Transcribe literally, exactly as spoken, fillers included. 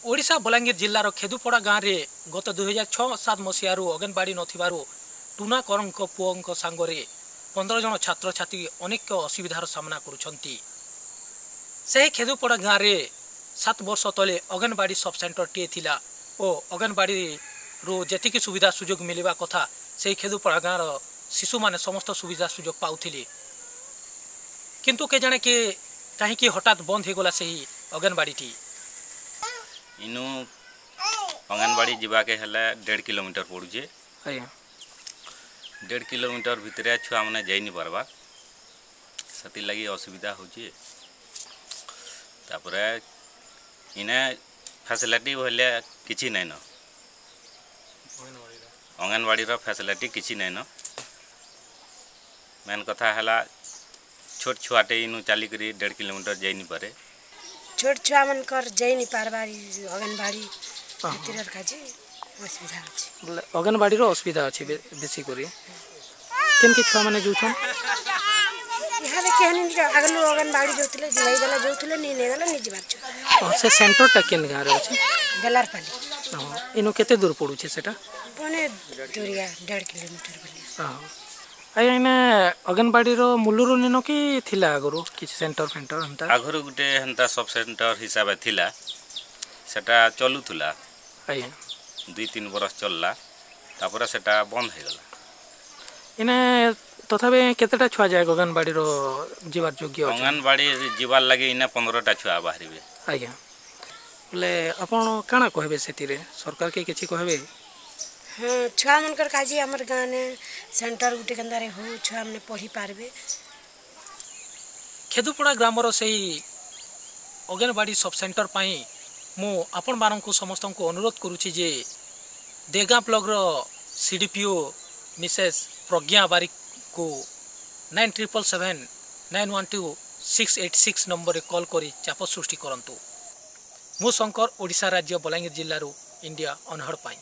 ଓଡ଼ିଶା ବଲାଙ୍ଗୀର ଜିଲ୍ଲାର ଖେଦୁପଡ଼ା ଗାଁରେ ଗତ ଦୁଇହଜାର ଛଅ ସାତ ମସିହାରୁ ଅଙ୍ଗନବାଡ଼ି ନଥିବାରୁ ଟୁନା କରଙ୍କ ପୁଅଙ୍କ ସାଙ୍ଗରେ ପନ୍ଦର ଜଣ ଛାତ୍ରଛାତ୍ରୀ ଅନେକ ଅସୁବିଧାର ସାମ୍ନା କରୁଛନ୍ତି। ସେହି ଖେଦୁପଡ଼ା ଗାଁରେ ସାତ ବର୍ଷ ତଳେ ଅଙ୍ଗନବାଡ଼ି ସବ୍ ସେଣ୍ଟରଟିଏ ଥିଲା ଓ ଅଙ୍ଗନବାଡ଼ିରୁ ଯେତିକି ସୁବିଧା ସୁଯୋଗ ମିଳିବା କଥା, ସେହି ଖେଦୁପଡ଼ା ଗାଁର ଶିଶୁମାନେ ସମସ୍ତ ସୁବିଧା ସୁଯୋଗ ପାଉଥିଲେ। କିନ୍ତୁ କେଜାଣେ କିଏ କାହିଁକି ହଠାତ୍ ବନ୍ଦ ହେଇଗଲା ସେହି ଅଙ୍ଗନବାଡ଼ିଟି। ଇନୁ ଅଙ୍ଗନବାଡ଼ି ଯିବାକେ ହେଲେ ଦେଢ଼ କିଲୋମିଟର ପଡ଼ୁଛେ। ଆଜ୍ଞା ଦେଢ଼ କିଲୋମିଟର ଭିତରେ ଛୁଆମାନେ ଯାଇ ନି ପାରବାର୍, ସେଥିର୍ଲାଗି ଅସୁବିଧା ହଉଛେ। ତାପରେ ଇନେ ଫ୍ୟାସିଲିଟି ବୋଇଲେ କିଛି ନାଇଁନ, ଅଙ୍ଗନବାଡ଼ିର ଫ୍ୟାସିଲିଟି କିଛି ନାଇଁନ। ମେନ୍ କଥା ହେଲା, ଛୋଟ ଛୁଆଟେ ଇନୁ ଚାଲିକରି ଦେଢ଼ କିଲୋମିଟର ଯାଇ ନି ପାରେ। ଛୋଟ ଛୁଆମାନଙ୍କର ଯାଇ ନି ପାରବାର୍ ଅଙ୍ଗନବାଡ଼ି ଭିତରେ, କାଜେ ଅସୁବିଧା ଅଛି। ବୋଲେ ଅଙ୍ଗନବାଡ଼ିର ଅସୁବିଧା ଅଛି ବେଶୀ କରି। କେମିତି ଛୁଆମାନେ ଯାଉଛନ୍? ଇହାଦେ କେହନି ଆଗରୁ ଅଙ୍ଗନବାଡ଼ି ଯାଉଥିଲେ, ନେଇଗଲେ ଯାଉଥିଲେ, ନି ନେଇଗଲେ ନି ଯିବାର ଛୁଆ। ସେ ସେଣ୍ଟରଟା କେନ୍ ଗାଁରେ ଅଛି? ବେଲାରପାଲି। ହଁ, ଇନୁ କେତେ ଦୂର ପଡ଼ୁଛେ ସେଟା? ମାନେ ଦୂରିଆ, ଦେଢ଼ କିଲୋମିଟର ବୋଲି। ହଁ ଆଜ୍ଞା, ଏଇନେ ଅଙ୍ଗନବାଡ଼ିର ମୂଳରୁ ନିନ କି ଥିଲା ଆଗରୁ କିଛି ସେଣ୍ଟର ଫେଣ୍ଟର ହେନ୍ତା? ଆଗରୁ ଗୋଟେ ହେନ୍ତା ସବ୍ ସେଣ୍ଟର ହିସାବେ ଥିଲା, ସେଟା ଚଲୁଥିଲା। ଆଜ୍ଞା ଦୁଇ ତିନି ବରଷ ଚଲଲା, ତାପରେ ସେଟା ବନ୍ଦ ହେଇଗଲା। ଏଇନେ ତଥାପି କେତେଟା ଛୁଆ ଯାଏ ଅଙ୍ଗନବାଡ଼ିର ଯିବାର ଯୋଗ୍ୟ? ଅଙ୍ଗନବାଡ଼ି ଯିବାର୍ ଲାଗି ଇନେ ପନ୍ଦରଟା ଛୁଆ ବାହାରିବେ। ଆଜ୍ଞା, ବୋଲେ ଆପଣ କାଣା କହିବେ ସେଥିରେ? ସରକାରକେ କିଛି କହିବେ? ହଁ, ଛୁଆମାନଙ୍କର କାଜି ଆମର ଗାଁନେ ସେଣ୍ଟର ଗୋଟେ କେନ୍ତାରେ ହଉ, ଛୁଆମାନେ ପଢ଼ି ପାରବେ। ଖେଦୁପଡ଼ା ଗ୍ରାମର ସେଇ ଅଙ୍ଗନବାଡ଼ି ସବ୍ ସେଣ୍ଟର ପାଇଁ ମୁଁ ଆପଣମାନଙ୍କୁ ସମସ୍ତଙ୍କୁ ଅନୁରୋଧ କରୁଛି ଯେ ଦେଗାଁ ବ୍ଲକର C D P O Mrs Pragya ବାରିକକୁ nine triple seven nine one two six eight six ନମ୍ବରରେ କଲ୍ କରି ଚାପ ସୃଷ୍ଟି କରନ୍ତୁ। ମୁଁ ଶଙ୍କର, ଓଡ଼ିଶା ରାଜ୍ୟ ବଲାଙ୍ଗୀର ଜିଲ୍ଲାରୁ ଇଣ୍ଡିଆ ଅନହର୍ଡ଼ ପାଇଁ।